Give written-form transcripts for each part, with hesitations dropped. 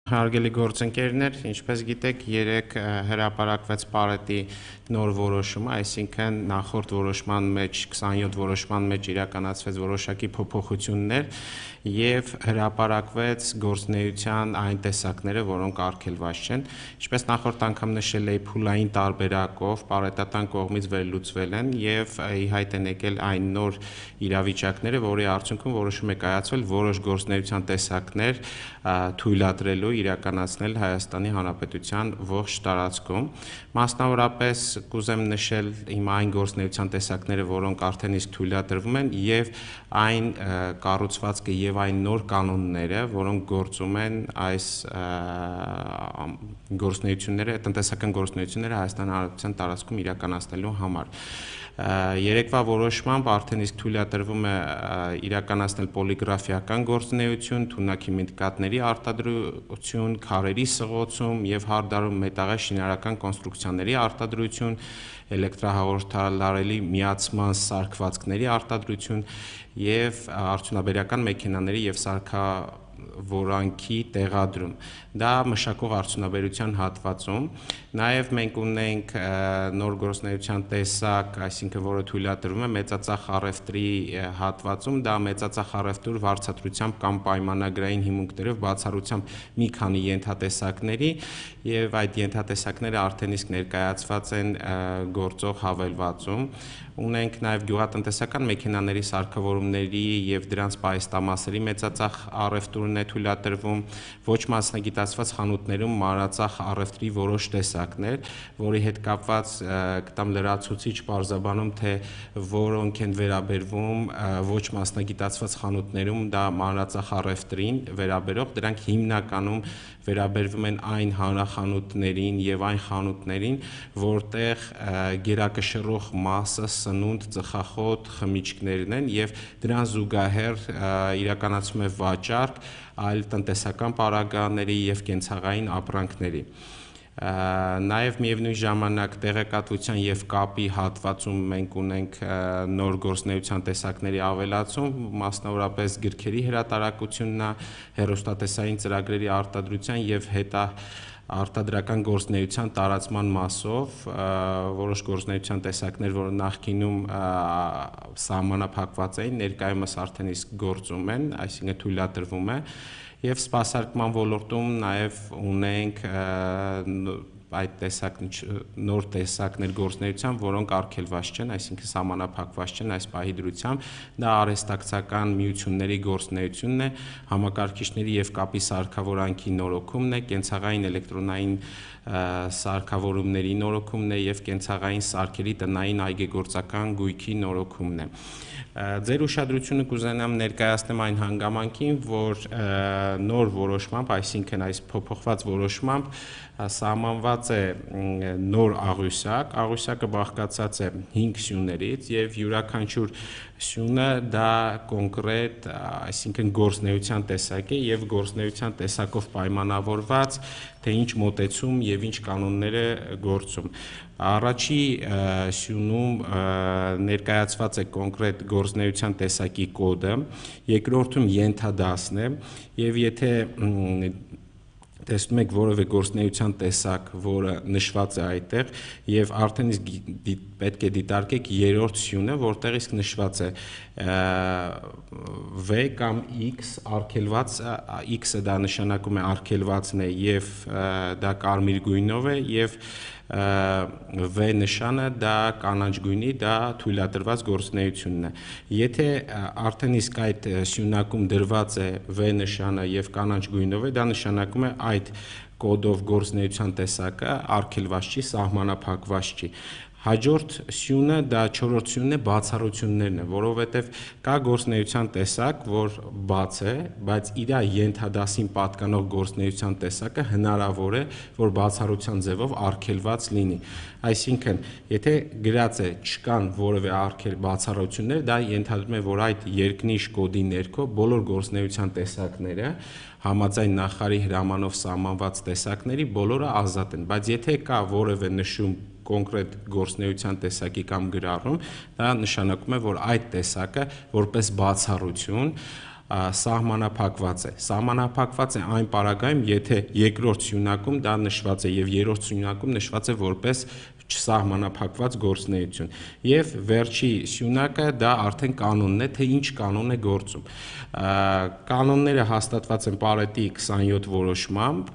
Հարգելի գործընկերներ, ինչպես գիտեք, երեք հրապարակվեց Պարետի նոր որոշումը, այսինքն նախորդ որոշման մեջ 27 որոշման մեջ իրականացվեց որոշակի փոփոխություններ եւ հրապարակվեց գործնեության այն տեսակները, որոնք արգելված չեն, ինչպես նախորդ անգամ նշել էի, փուլային տարբերակով պարետատան կողմից վերլուծվել են եւ ի հայտ են եկել այն նոր իրավիճակները, որի արդյունքում որոշում է կայացվել որոշ գործնեության տեսակներ թույլատրելու իրականացնել Հայաստանի Հանրապետության ողջ տարածքում։ Մասնավորապես կուզեմ նշել հիմա այն գործնեության տեսակները, որոնք արդեն իսկ թույլատրվում են եւ այն կառուցվածքը եւ այն նոր կանոնները, որոնք գործում են այս գործնեությունները, տնտեսական գործնեությունները Հայաստանի Հանրապետության տարածքում իրականացնելու համար։ Երեկվա որոշմամբ արդեն իսկ թույլատրվում է իրականացնել պոլիգրաֆիական գործնեություն, թունաքիմիկատների արտադրություն, քարերի սղոցում եւ հարդարում մետաղե շինարարական կոնստրուկցիաների արտադրություն, էլեկտրահաղորդալարելի միացման սարքվածքների արտադրություն եւ արդյունաբերական մեքենաների եւ սարքավորանքի տեղադրում։ Դա մշակող արդյունաբերության հատվածում։ Նաեւ մենք ունենք նոր գործնեության տեսակ, այսինքն որը թույլատրվում է մեծածախ առևտրի հատվածում, դա մեծածախ առևտուր վարձատրությամբ կամ պայմանագրային հիմունքներով բացառությամբ մի քանի ենթատեսակների եւ այդ ենթատեսակները արդեն իսկ ներկայացված են գործող հավելվածում։ Ունենք նաեւ գյուղատնտեսական մեքենաների սարքավորումների եւ դրանց պահեստամասերի մեծածախ առևտուրն է թույլատրվում, ոչ մասնագիտացված խանութներում մանրածախ առևտրի որոշ տեսակներ, որի հետ կապված կտամ լրացուցիչ պարզաբանում, թե որոնք են վերաբերվում ոչ մասնագիտացված խանութներում դա մանրածախ առևտրին վերաբերող, դրանք հիմնականում վերաբերվում են այն հանրախանութներին եւ այն խանութներին, որտեղ գերակշռող մասը սնունդ, ծխախոտ, խմիչքներն են եւ դրան զուգահեռ իրականացվում է վաճառք այլ տնտեսական պարագաների եւ կենցաղային ապրանքների։ Նաեւ միևնույն ժամանակ տեղեկատվության եւ կապի հատվածում մենք ունենք նոր գործնեության տեսակների ավելացում, մասնավորապես գրքերի հրատարակությունն է, հեռուստատեսային ծրագրերի արտադրության եւ արտադրական գործնեության տարածման մասով, որոշ գործնեության տեսակներ, որը նախկինում սահմանափակված էին, ներկայումս արդեն իսկ գործում են, այսինքն թույլատրվում է, եւ սպասարկման ոլորտում նաեւ ունենք այդ նոր տեսակներ գործնեության, որոնք արգելված չեն, այսինքն սահմանափակված չեն այս պահի դրությամբ, դա արհեստակցական միությունների գործնեությունն է, համակարգիչների եւ կապի սարքավորանքի նորոգումն է, կենցաղային էլեկտրոնային սարքավորումների նորոգումն է եւ կենցաղային սարքերի տնային այգեգործական գույքի նորոգումն է։ Ձեր ուշադրությունը կուզենամ ներկայացնեմ այն հանգամանքին, որ նոր որոշմամբ, այսինքն այս փոփոխված որոշմամբ սահմանված է նոր աղյուսակը բաղկացած է 5 սյուներից եւ յուրաքանչյուր սյունը դա կոնկրետ, այսինքն գործնեության տեսակ է եւ գործնեության տեսակով պայմանավորված, թե ինչ մոտեցում եւ ինչ կանոններ է գործում։ Առաջի սյունում ներկայացված է կոնկրետ գործնեության տեսակի կոդը, երկրորդում ենթադասն է եւ եթե տեսնում եք որևէ գործնեության տեսակ, որը նշված է այդտեղ եւ արդեն իսկ պետք է դիտարկեք երրորդ սյունը, որտեղ իսկ նշված է V կամ X արգելված, X-ը դա նշանակում է արգելվածն է եւ դա կարմիր գույնով է եւ V նշանը դա կանաչ գույնի, դա թույլատրված գործնեությունն է։ Եթե արդեն իսկ այդ սյունակում դրված է V նշանը եւ կանաչ գույնով է, դա նշանակում է այդ կոդով գործնեության տեսակը արգելված չի, սահմանափակված չի։ Հաջորդ սյունը դա 4-րդ սյունն է, բացառություններն է, որովհետև կա գործնեության տեսակ, որ բաց է, բայց իր ենթադասին պատկանող գործնեության տեսակը հնարավոր է, որ բացառության ձևով արգելված լինի։ Այսինքն, եթե գրած է չկան որևէ բացառություններ, դա ենթադրում է, որ այդ երկնիշ կոդի ներքո բոլոր գործնեության տեսակները համաձայն նախարարի հրամանով սահմանված տեսակների բոլորը ազատ են, բայց եթե կա որևէ նշում կոնկրետ գործնեության տեսակի կամ գրառում, դա նշանակում է, որ այդ տեսակը որպես բացառություն սահմանափակված է։ Սահմանափակված է այն պարագայում, եթե երկրորդ սյունակում դա նշված է եւ երրորդ սյունակում նշված է որպես չսահմանափակված գործունեություն։ Եվ վերջի սյունակը դա արդեն կանոնն է, թե ինչ կանոն է գործում։ Կանոնները հաստատված են Պարետի 27 որոշմամբ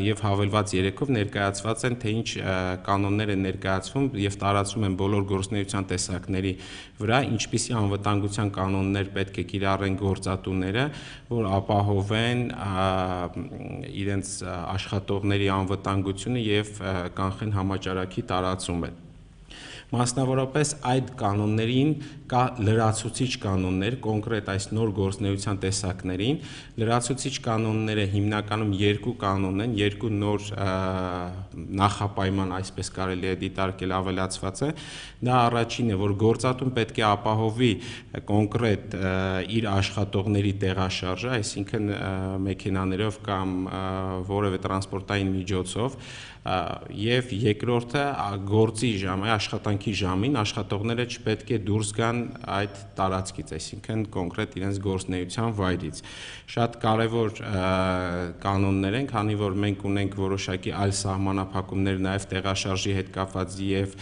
եւ հավելված 3-ով ներկայացված են, թե ինչ կանոններ են ներկայացվում եւ տարածվում են բոլոր գործունեության տեսակների վրա, ինչպիսի անվտանգության կանոններ պետք է կիրառեն գործատուները, որ ապահովեն իրենց աշխատողների անվտանգությունը եւ կանխեն համաճարակի տարածումը։ Մասնավորապես այդ կանոններին կա լրացուցիչ կանոններ, կոնկրետ այս նոր գործունեության տեսակներին, լրացուցիչ կանոնները հիմնականում երկու կանոն են, երկու նոր նախապայման, այսպես կարելի է դիտարկել, ավելացված է։ Դա առաջինը, որ գործատուն պետք է ապահովի կոնկրետ իր աշխատողների տեղաշարժը, այսինքն մեքենաներով կամ որևէ տրանսպորտային միջոցով, եւ երկրորդը գործի ժամը, աշխատանքի ժամին աշխատողները չպետք է դուրս գան այդ տարածքից, այսինքն կոնկրետ իրենց գործունեության վայրից։ Շատ կարևոր կանոններ են, քանի որ մենք ունենք որոշակի այլ սահմանափակումներ նաեւ տեղաշարժի հետ կապված եւ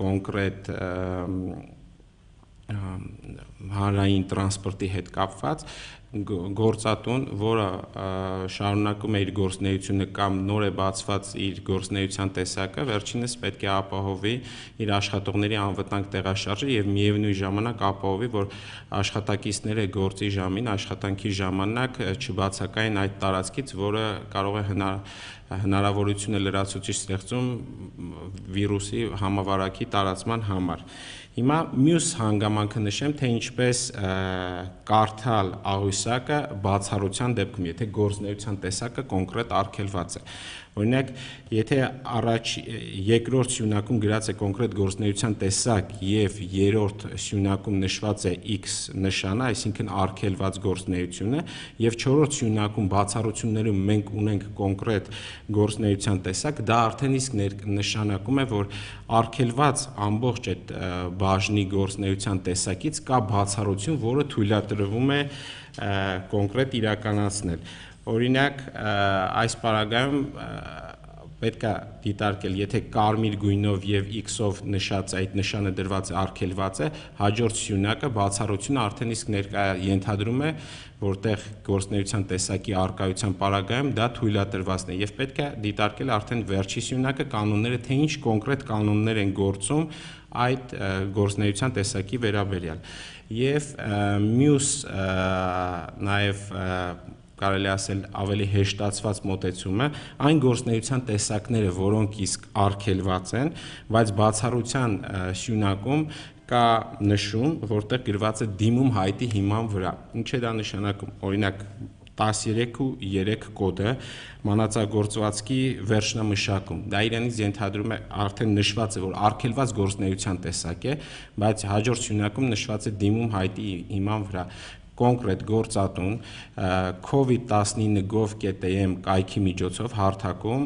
կոնկրետ հանրային տրանսպորտի հետ կապված, գործատուն, որը շարունակում է իր գործունեությունը կամ նոր է բացված իր գործունեության տեսակը, վերջինս պետք է ապահովի իր աշխատողների անվտանգ տեղաշարժը եւ միևնույն ժամանակ ապահովի, որ աշխատակիցները գործի ժամին, աշխատանքի ժամանակ չբացակայեն այդ տարածքից, որը կարող է հնարավորություն է լրացուցիչ ստեղծում վիրուսի համավարակի տարածման համար։ Հիմա մյուս հանգամանքը նշեմ, թե ինչպես կարդալ աղյուսակը բացառության դեպքում, եթե գործունեության տեսակը կոնկրետ արգելված է։ Օրինակ, եթե երկրորդ սյունակում գրած է կոնկրետ գործունեության տեսակ եւ երրորդ սյունակում նշված է X նշանը, այսինքն արգելված գործունեությունը, եւ չորրորդ սյունակում բացառություններում մենք ունենք կոնկրետ գործունեության տեսակ, դա արդեն իսկ նշանակում է, որ արգելված ամբողջ այդ բաժնի գործունեության տեսակից կա բացառություն, որը թույլատրվում է կոնկրետ իրականացնել։ Օրինակ, այս պարագայում պետք է դիտարկել, եթե կարմիր գույնով եւ X-ով նշած այդ նշանը դրված է, արգելված է, հաջորդ սյունակը բացառությունը արդեն իսկ ենթադրում է, որտեղ գործունեության տեսակի արկայության պարագայում դա թույլատրվածն է եւ պետք է դիտարկել արդեն վերջի սյունակը կանոնները, թե ինչ կոնկրետ կանոններ են գործում այդ գործունեության տեսակի վերաբերյալ։ Եվ մյուս նաեւ կարելի ասել ավելի հեշտացված մոտեցումը, այն գործունեության տեսակները, որոնք իսկ արգելված են, բայց բացառության սյունակում կա նշում, որտեղ գրված է դիմում հայտի հիման վրա։ Ինչ է դա նշանակում։ Օրինակ 13.3 կոդը մանածագործվածքի վերջնամշակում։ Դա իրենից ենթադրում է, արդեն նշված է, որ արգելված գործունեության տեսակ է, բայց հաջորդ սյունակում նշված է դիմում հայտի հիման վրա։ Կոնկրետ գործատուն covid19.gov.am կայքի միջոցով հարթակում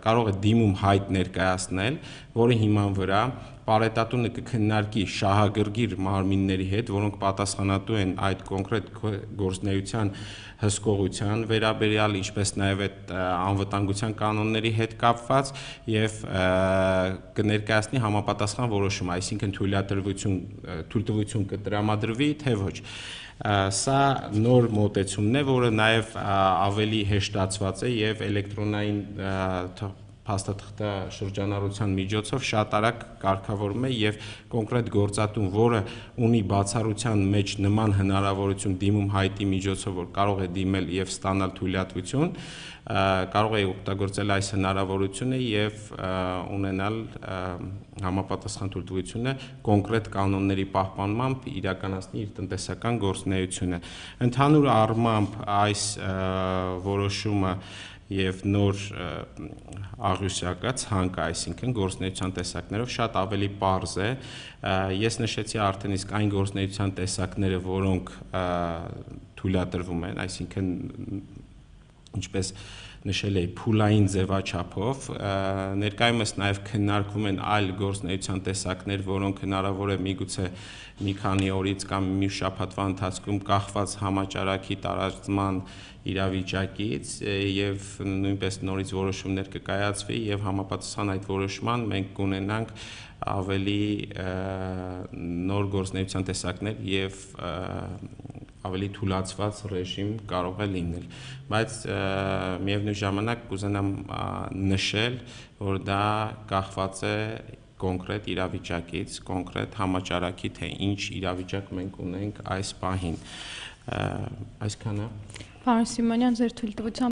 կարող է դիմում հայտ ներկայացնել, որի հիման վրա Պարետատունը կքննարկի շահագրգիռ մարմինների հետ, որոնք պատասխանատու են այդ կոնկրետ գործունեության հսկողության վերաբերյալ, ինչպես նաև այդ անվտանգության կանոնների հետ կապված եւ կներկայացնի համապատասխան որոշում, այսինքն թույլտվություն կտրամադրվի, թե ոչ։ Սա նոր մոտեցումն է, որը նաև ավելի հեշտացված է եւ էլեկտրոնային փաստաթղթա շրջանառության միջոցով շատ արագ կարգավորում է եւ կոնկրետ գործատուն, որը ունի բացառության մեջ նման հնարավորություն դիմում հայտի միջոցով, որ կարող է դիմել եւ ստանալ թույլատվություն, կարող է օգտագործել այս հնարավորությունը եւ ունենալ համապատասխան թույլտվությունը կոնկրետ կանոնների պահպանմամբ իրականացնի իր տնտեսական գործունեությունը։ Ընդհանուր առմամբ այս որոշումը եւ նոր աղյուսակը ցանկը, այսինքն գործունեության տեսակներով շատ ավելի պարզ է։ Ես նշեցի արդեն իսկ այն գործունեության տեսակները, որոնք թույլատրվում են, այսինքն ինչպես նշել էի, փուլային ձևաչափով, ներկայումս նաև քննարկվում են այլ գործունեության տեսակներ, որոնք հնարավոր է միգուցե մի քանի օրից կամ մի շաբաթվա ընթացքում կախված համաճարակի տարածման իրավիճակից եւ նույնպես նորից որոշումներ կկայացվի եւ համապատասխան այդ որոշման մենք կունենանք ավելի նոր գործունեության տեսակներ եւ ավելի թուլացված ռեժիմ կարող է լինել, բայց միևնույն ժամանակ կուզենամ նշել, որ դա կախված է կոնկրետ իրավիճակից, կոնկրետ համաճարակի, թե ինչ իրավիճակ մենք ունենք այս պահին, այսքանը։ Պարոն Սիմոնյան, ձեր թույլտվությամբ